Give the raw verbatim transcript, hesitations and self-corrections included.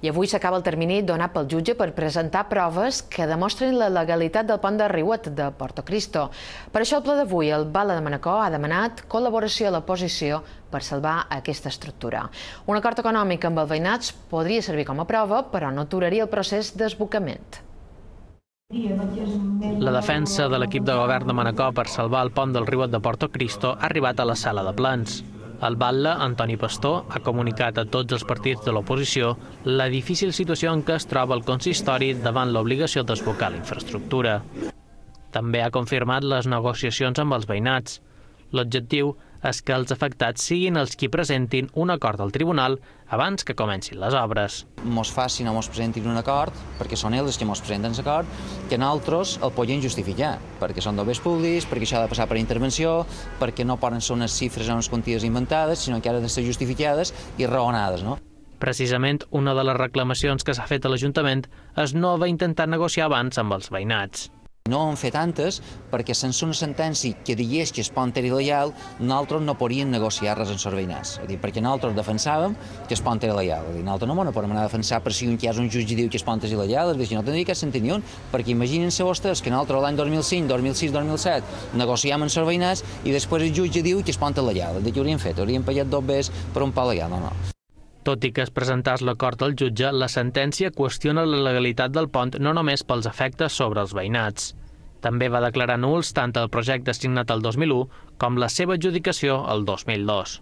I avui s'acaba el termini donat pel jutge per presentar proves que demostren la legalitat del pont de Riuet de Portocristo. Per això, al ple d'avui, el Bala de Manacor ha demanat col·laboració a l'oposició per salvar aquesta estructura. Un acord econòmic amb els veïnats podria servir com a prova, però no aturaria el procés d'esbocament. La defensa de l'equip de govern de Manacor per salvar el pont del Riuet de Portocristo ha arribat a la sala de plens. El batlle, Antoni Pastor, ha comunicat a tots els partits de l'oposició la difícil situació en què es troba el consistori davant l'obligació d'esbocar la infraestructura. També ha confirmat les negociacions amb els veïnats. L'objectiu és que els afectats siguin els qui presentin un acord al tribunal abans que comencin les obres. Mos facin o mos presentin un acord, perquè són ells els que mos presenten l'acord, que nosaltres el podem justificar, perquè són d'obres públics, perquè això ha de passar per intervenció, perquè no poden ser unes xifres o unes quanties inventades, sinó que han de ser justificades i raonades, no? Precisament, una de les reclamacions que s'ha fet a l'Ajuntament és no haver intentat negociar abans amb els veïnats. No en fer tantes perquè sense una sentència que digués que el pont era il·legal, nosaltres no podríem negociar res amb els veïnats. Perquè nosaltres defensàvem que el pont era il·legal. Nosaltres no podem anar a defensar per si un que hi ha un jutge diu que el pont és il·legal, no tindria cap sentit ni un, perquè imaginin-se vostès que nosaltres l'any dos mil cinc, dos mil sis, dos mil set negociàvem amb els veïnats i després el jutge diu que el pont és il·legal. Què hauríem fet? Hauríem pagat dos vegades per un pont il·legal? No, no. Tot i que es presentàs l'acord al jutge, la sentència qüestiona la legalitat del pont no només pels efectes sobre els veïnats. També va declarar nuls tant el projecte signat el dos mil u com la seva adjudicació el dos mil dos.